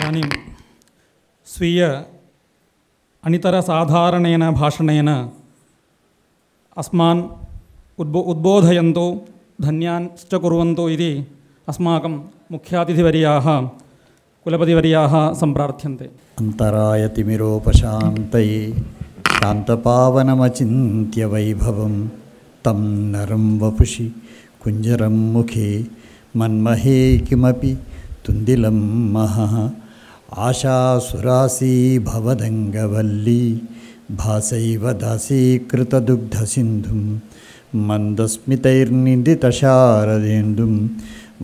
इदानीं स्वीय अनितरसाधारणेन भाषणेन अस्मान् उद्बोधयन्तु धन्याश्च कुर्वन्तु इति अस्माकं मुख्यातिथिवर्याः कुलपतिवर्याः सम्प्रार्थ्यन्ते। अन्तरायतिमिरोपशान्तये शान्तपावनमचिन्त्य वैभवं तं नरं वपुषि कुञ्जरं मुखे मन्महे किमपि तुन्दिलं महः आशासुरासी भवदङ्गवल्ली भासैव दासीकृतदुग्धसिन्धुं मन्दस्मितैर्निन्दितशारदेन्दुं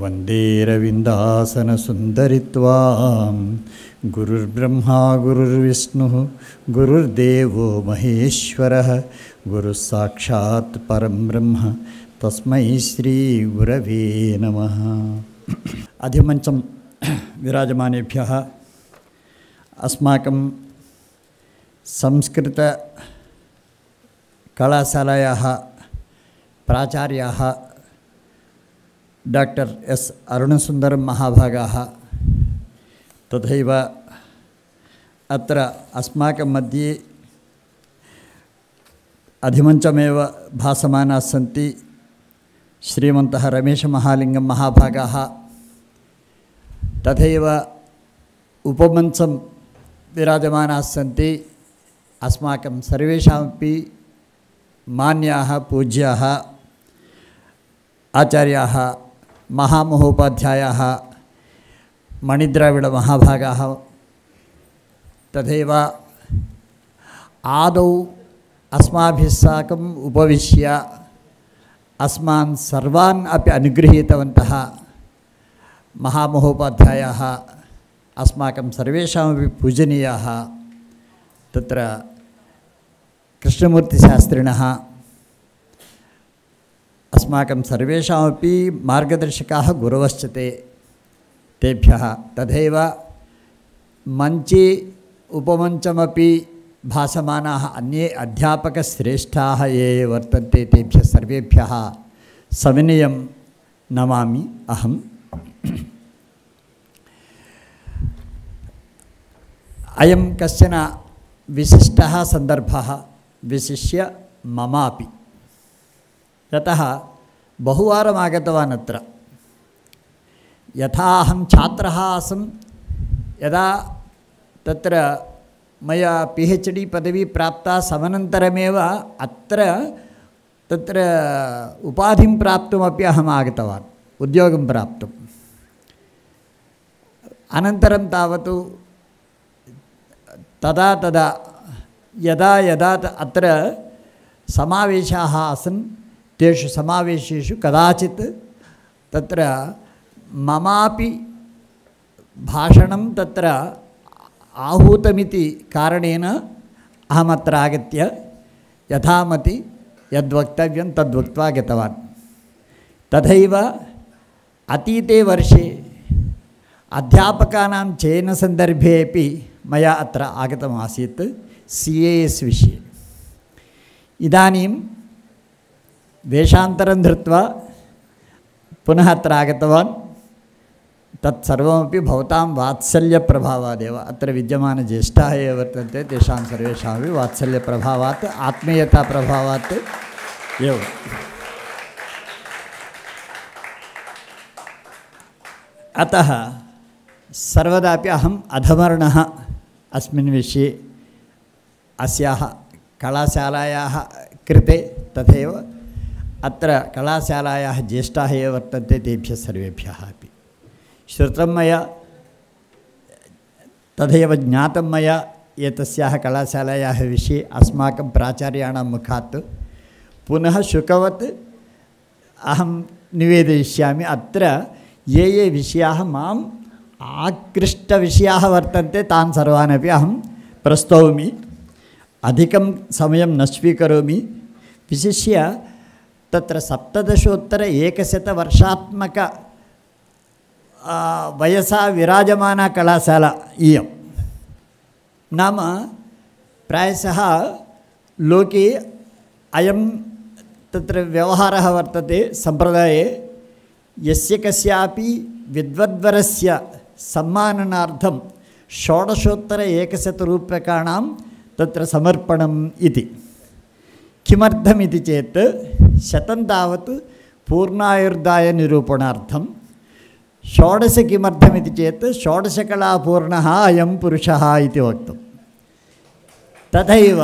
वन्दे रविन्दासनसुन्दरित्वां गुरुर्ब्रह्मा गुरुर्विष्णुः गुरुर्देवो महेश्वरः गुरुः साक्षात् परं ब्रह्म तस्मै श्रीगुरवे नमः। अधिमञ्चं विराजमानेभ्यः अस्माकं संस्कृतकलाशालायाः प्राचार्याः डाक्टर् एस् अरुणसुन्दरं महाभागाः तथैव अत्र अस्माकं मध्ये अधिमञ्चमेव भासमानाः सन्ति श्रीमन्तः रमेशमहालिङ्गं महाभागाः तथैव उपमञ्चं विराजमानाः सन्ति अस्माकं सर्वेषामपि मान्याः पूज्याः आचार्याः महामहोपाध्यायाः मणिद्राविडमहाभागाः तथैव आदौ अस्माभिः साकम् उपविश्य अस्मान् सर्वान् अपि अनुगृहीतवन्तः महामहोपाध्यायाः अस्माकं सर्वेषामपि पूजनीयाः तत्र कृष्णमूर्तिशास्त्रिणः अस्माकं सर्वेषामपि मार्गदर्शकाः गुरवश्च ते तेभ्यः तथैव मञ्चे उपमञ्चमपि भासमानाः अन्ये अध्यापकश्रेष्ठाः ये वर्तन्ते तेभ्यः सर्वेभ्यः सविनयं नमामि अहम्। अयं कश्चन विशिष्टः सन्दर्भः विशिष्य ममापि यतः बहुवारम् आगतवान् अत्र यथा अहं छात्रः आसं यदा तत्र मया PhD पदवी प्राप्ता समनन्तरमेव अत्र तत्र उपाधिं प्राप्तुमपि अहम् आगतवान् उद्योगं प्राप्तुम् अनन्तरं तावत् तदा तदा यदा यदा अत्र समावेशाः आसन् तेषु समावेशेषु कदाचित् तत्र ममापि भाषणं तत्र आहूतमिति कारणेन अहमत्र आगत्य यथामति यद्वक्तव्यं तद्वक्त्वा गतवान्। तथैव अतीते वर्षे अध्यापकानां चयनसन्दर्भे अपि मया अत्र आगतमासीत् CAS विषये। इदानीं वेषान्तरं धृत्वा पुनः अत्र आगतवान् तत्सर्वमपि भवतां वात्सल्यप्रभावादेव अत्र विद्यमानज्येष्ठाः ये वर्तन्ते तेषां सर्वेषामपि वात्सल्यप्रभावात् आत्मीयताप्रभावात् एव। अतः सर्वदापि अहम् अधमर्णः अस्मिन् विषये अस्याः कलाशालायाः कृते तथैव अत्र कलाशालायाः ज्येष्ठाः ये वर्तन्ते तेभ्यः सर्वेभ्यः अपि श्रुतं मया तथैव ज्ञातं मया एतस्याः कलाशालायाः विषये अस्माकं प्राचार्याणां मुखात् पुनः शुकवत् अहं निवेदयिष्यामि। अत्र ये ये विषयाः माम् आकृष्टविषयाः वर्तन्ते तान् सर्वान् अपि अहं प्रस्तौमि। अधिकं समयं न स्वीकरोमि। विशिष्य तत्र 17 वर्षात्मक वयसा विराजमाना कलाशाला इयं नाम प्रायशः लोके अयं तत्र व्यवहारः वर्तते सम्प्रदाये यस्य कस्यापि विद्वद्वरस्य सम्माननार्थं षोडशोत्तर 100 रूप्यकाणां तत्र समर्पणम् इति। किमर्थमिति चेत् 100 तावत् पूर्णायुर्दायनिरूपणार्थं, 16 किमर्थमिति चेत् षोडशकलापूर्णः अयं पुरुषः इति वक्तुं। तथैव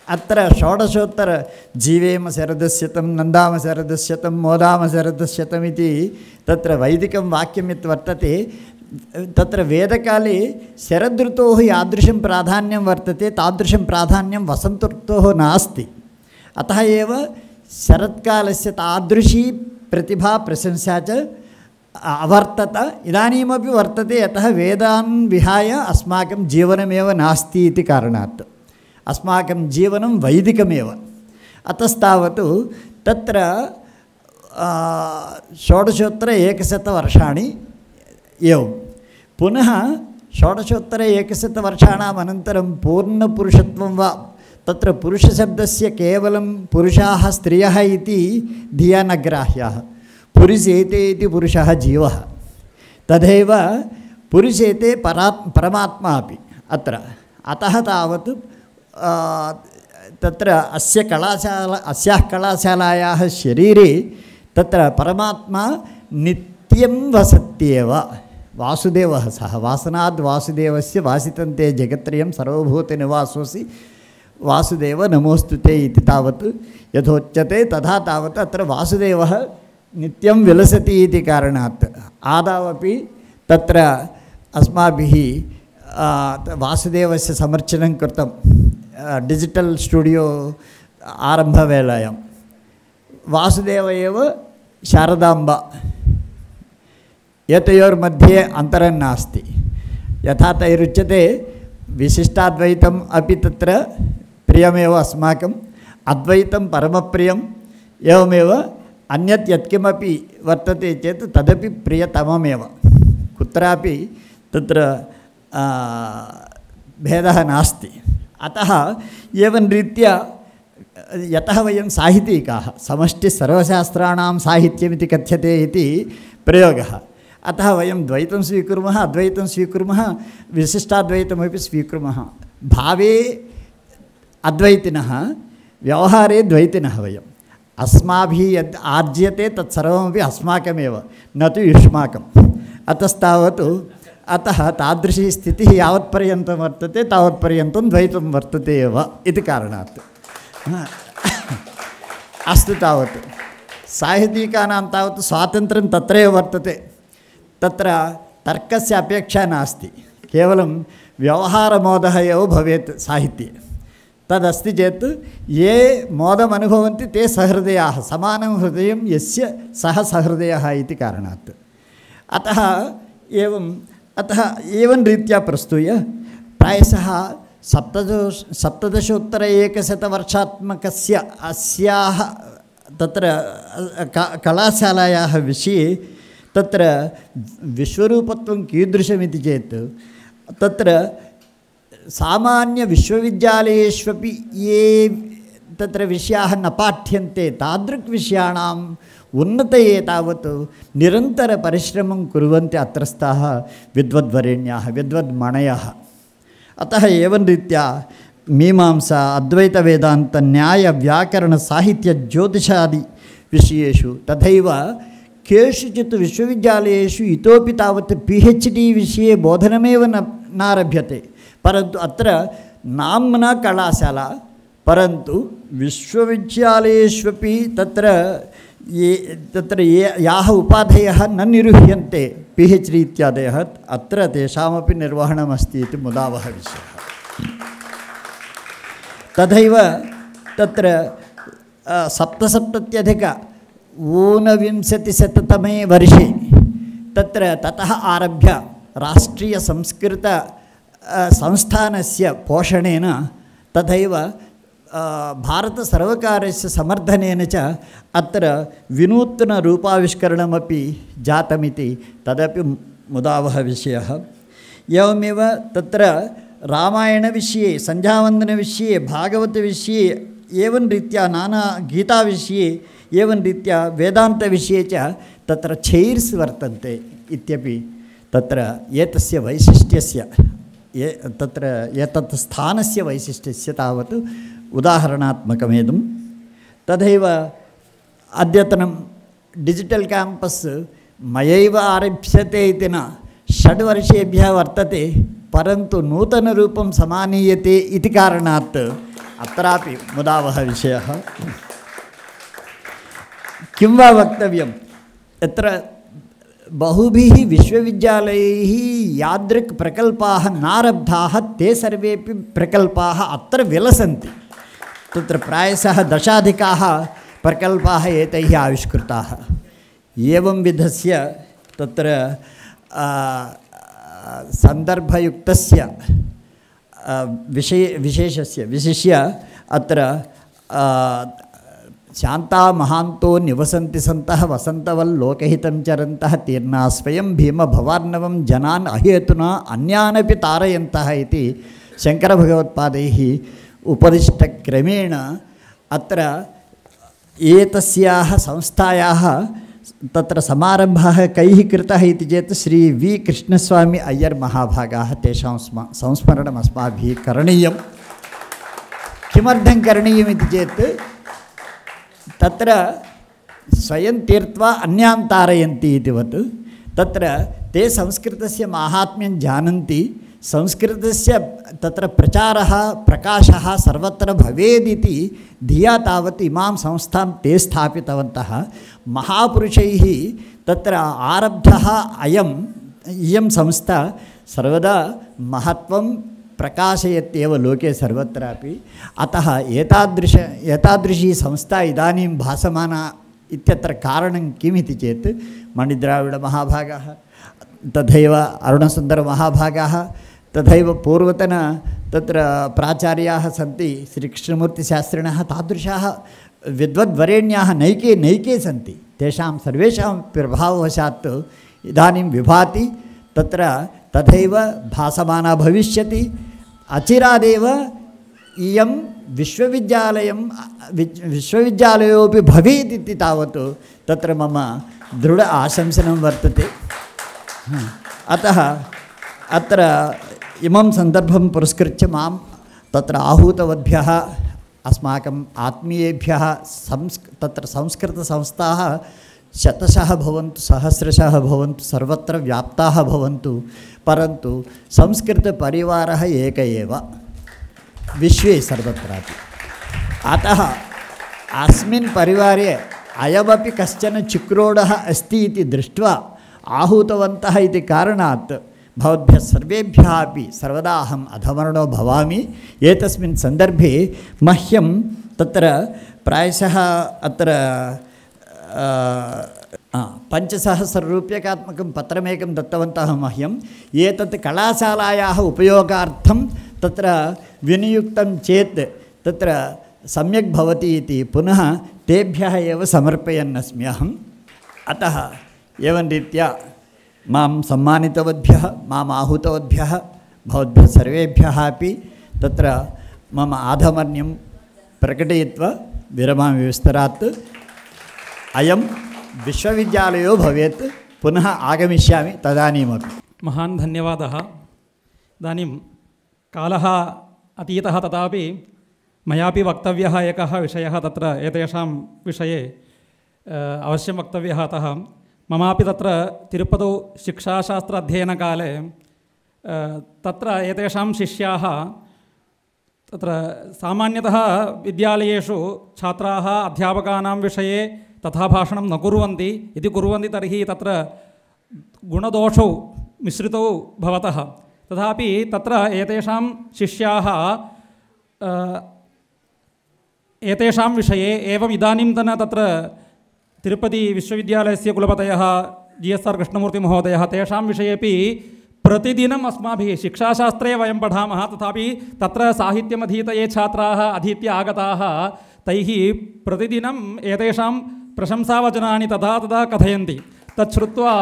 अत्र षोडशोत्तर जीवेम शरदस्यतं नन्दाम शरदस्यतं मोदाम शरदस्यतम् इति तत्र वैदिकं वाक्यं यत् वर्तते, तत्र वेदकाले शरदृतोः यादृशं प्राधान्यं वर्तते तादृशं प्राधान्यं वसन्तऋतोः नास्ति। अतः एव शरत्कालस्य तादृशी प्रतिभा प्रशंसा च अवर्तत, इदानीमपि वर्तते। यतः वेदान् विहाय अस्माकं जीवनमेव नास्ति इति कारणात् अस्माकं जीवनं वैदिकमेव। अतस्तावत् तत्र 16 100 एवं पुनः 16 100 अनन्तरं पूर्णपुरुषत्वं वा, तत्र पुरुषशब्दस्य केवलं पुरुषाः स्त्रियः इति धिया न ग्राह्याः। पुरुषेते इति पुरुषः जीवः, तथैव पुरुषेते परमात्मा अपि अत्र। अतः तावत् तत्र अस्याः कलाशालायाः शरीरे तत्र परमात्मा नित्यं वसत्येव। वासुदेवः सः वासनाद् वासुदेवस्य वासितन्ते जगत्त्रयं सर्वभूतनिवासोऽसि वासुदेव नमोस्तुते इति तावत् यथोच्यते, तथा तावत् अत्र वासुदेवः नित्यं विलसति इति कारणात् आदावपि तत्र अस्माभिः वासुदेवस्य समर्चनं कृतं डिजिटल् स्टुडियो आरम्भवेलायां। वासुदेव एव शारदाम्बा, एतयोर्मध्ये अन्तरं नास्ति। यथा तैरुच्यते विशिष्टाद्वैतम् अपि तत्र प्रियमेव अस्माकं, अद्वैतं परमप्रियम्, एवमेव अन्यत् यत्किमपि वर्तते चेत् तदपि प्रियतममेव। कुत्रापि तत्र भेदः नास्ति। अतः एवं रीत्या यतः वयं साहित्यिकाः, समष्टिसर्वशास्त्राणां साहित्यमिति कथ्यते इति प्रयोगः, अतः वयं द्वैतं स्वीकुर्मः, अद्वैतं स्वीकुर्मः, विशिष्टाद्वैतमपि स्वीकुर्मः। भावे अद्वैतिनः, व्यवहारे द्वैतिनः वयम्। अस्माभिः यद् आर्ज्यते तत्सर्वमपि अस्माकमेव, न तु युष्माकम्। अतस्तावत् अतः तादृशी स्थितिः यावत्पर्यन्तं वर्तते तावत्पर्यन्तं द्वैतं वर्तते एव इति कारणात्। अस्तु, तावत् साहित्यिकानां तावत् स्वातन्त्र्यं तत्रैव वर्तते। तत्र तर्कस्य अपेक्षा नास्ति, केवलं व्यवहारमोदः एव भवेत् साहित्ये। तदस्ति चेत् ये मोदम् अनुभवन्ति ते सहृदयाः, समानं हृदयं यस्य सः सहृदयः इति कारणात्। अतः एवं रीत्या प्रस्तूय प्रायशः 17 100 अस्याः तत्र कलाशालायाः विषये तत्र विश्वरूपत्वं कीदृशमिति चेत् तत्र सामान्यविश्वविद्यालयेष्वपि ये तत्र विषयाः न पाठ्यन्ते तादृग्विषयाणाम् उन्नतये तावत् निरन्तरपरिश्रमं कुर्वन्ति अत्रस्थाः विद्वद्वरेण्याः विद्वद्मणयः। अतः एवं रीत्या मीमांसा अद्वैतवेदान्त न्याय व्याकरण साहित्य ज्योतिषादि विषयेषु तथैव केषुचित् विश्वविद्यालयेषु इतोपि तावत् PhD विषये बोधनमेव नारभ्यते। परन्तु अत्र नाम्ना कलाशाला, परन्तु विश्वविद्यालयेष्वपि तत्र याः उपाधयः न निरूह्यन्ते PhD इत्यादयः, अत्र तेषामपि निर्वहणमस्ति इति मुदावह विषयः। तथैव तत्र 1770-ऊनविंशतिशततमे वर्षे ततः आरभ्य राष्ट्रीयसंस्कृत संस्थानस्य पोषणेन तथैव भारतसर्वकारस्य समर्थनेन च अत्र विनूत्नरूपाविष्करणमपि जातमिति तदपि मुदावह विषयः। एवमेव तत्र रामायणविषये, सन्ध्यावन्दनविषये, भागवतविषये, एवं रीत्या नाना गीताविषये, एवं रीत्या वेदान्तविषये च तत्र चैर्स् वर्तन्ते इत्यपि तत्र एतस्य वैशिष्ट्यस्य तत्र एतत् स्थानस्य वैशिष्ट्यस्य तावत् उदाहरणात्मकमेदं तथैव अद्यतनं डिजिटल् क्याम्पस् मयैव आरभ्यते इति न 6 वर्षेभ्यः वर्तते परन्तु नूतनरूपं समानीयते इति कारणात् अत्रापि मुदावह विषयः किं वा वक्तव्यं यत्र बहुभिः विश्वविद्यालयैः यादृक् प्रकल्पाः नारब्धाः ते सर्वेपि प्रकल्पाः अत्र विलसन्ति तत्र प्रायशः 10 प्रकल्पाः एतैः आविष्कृताः एवं विधस्य तत्र सन्दर्भयुक्तस्य विशेषस्य विशिष्य अत्र शान्ता महान्तो निवसन्ति सन्तः वसन्तवल्लोकहितं चरन्तः तीर्णा स्वयं भीमभवार्णवं जनान् अहेतुना अन्यानपि तारयन्तः इति शङ्करभगवत्पादैः उपदिष्टक्रमेण अत्र एतस्याः संस्थायाः तत्र समारम्भः कैः कृतः इति चेत् श्री वी कृष्णस्वामी अय्यर् महाभागाः तेषां संस्मरणम् अस्माभिः करणीयं किमर्थं करणीयम् इति चेत् तत्र स्वयं तीर्त्वा अन्यान् तारयन्ति इतिवत् तत्र ते संस्कृतस्य माहात्म्यं जानन्ति संस्कृतस्य तत्र प्रचारः प्रकाशः सर्वत्र भवेदिति धिया तावत् इमां संस्थां ते स्थापितवन्तः महापुरुषैः तत्र आरब्धः इयं संस्था सर्वदा महत्त्वं प्रकाशयत्येव लोके सर्वत्रापि अतः एतादृशी संस्था इदानीं भासमाना इत्यत्र कारणं किमिति चेत् मणिद्राविडमहाभागाः तथैव अरुणसुन्दरमहाभागाः तथैव पूर्वतन तत्र प्राचार्याः सन्ति श्रीकृष्णमूर्तिशास्त्रिणः तादृशाः विद्वद्वरेण्याः नैके सन्ति तेषां सर्वेषां प्रभाववशात् इदानीं विभाति तत्र तथैव भासमाना भविष्यति अचिरादेव इयं विश्वविद्यालयोपि भवेत् इति तावत् तत्र मम दृढ आशंसनं वर्तते अतः अत्र इमं सन्दर्भं पुरस्कृत्य मां तत्र आहूतवद्भ्यः अस्माकम् आत्मीयेभ्यः तत्र संस्कृतसंस्थाः शतशः भवन्तु सहस्रशः भवन्तु सर्वत्र व्याप्ताः भवन्तु परन्तु संस्कृतपरिवारः एक एव विश्वे सर्वत्रापि अतः अस्मिन् परिवारे अयमपि कश्चन चिक्रोडः अस्ति इति दृष्ट्वा आहूतवन्तः इति कारणात् भवद्भ्यः सर्वेभ्यः अपि सर्वदा अहम् अधमर्णो भवामि एतस्मिन् सन्दर्भे मह्यं तत्र प्रायशः अत्र 5,000 रूप्यकात्मकं पत्रमेकं दत्तवन्तः मह्यम् एतत् कलाशालायाः उपयोगार्थं तत्र विनियुक्तं चेत् तत्र सम्यक् भवति इति पुनः तेभ्यः एव समर्पयन्नस्मि अहम् अतः एवं रीत्या मां सम्मानितवद्भ्यः माम् आहूतवद्भ्यः भवद्भ्यः सर्वेभ्यः अपि तत्र मम आधमर्यं प्रकटयित्वा विरमामि विस्तरात् अयं विश्वविद्यालयो भवेत् पुनः आगमिष्यामि तदानीमपि महान् धन्यवादः इदानीं कालः अतीतः तथापि मयापि वक्तव्यः एकः विषयः तत्र एतेषां विषये अवश्यं वक्तव्यः अतः ममापि तत्र तिरुपतौ शिक्षाशास्त्र अध्ययनकाले तत्र एतेषां शिष्याः तत्र सामान्यतः विद्यालयेषु छात्राः अध्यापकानां विषये तथा भाषणं न कुर्वन्ति इति कुर्वन्ति तर्हि तत्र गुणदोषौ मिश्रितौ भवतः तथापि तत्र एतेषां शिष्याः एतेषां विषये एवम् इदानीन्तन तत्र तिरुपति विश्वविद्यालयस्य कुलपतयः GSR कृष्णमूर्तिमहोदयः तेषां विषयेपि प्रतिदिनम् अस्माभिः शिक्षाशास्त्रे वयं पठामः तथापि तत्र साहित्यमधीत ये छात्राः अधीत्य आगताः तैः प्रतिदिनम् एतेषां प्रशंसावचनानि तथा तथा कथयन्ति तत् श्रुत्वा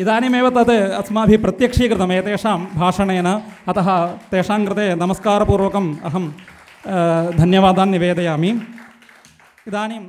इदानीमेव तत् अस्माभिः प्रत्यक्षीकृतम् एतेषां भाषणेन अतः तेषां कृते नमस्कारपूर्वकम् अहं धन्यवादान् निवेदयामि इदानीं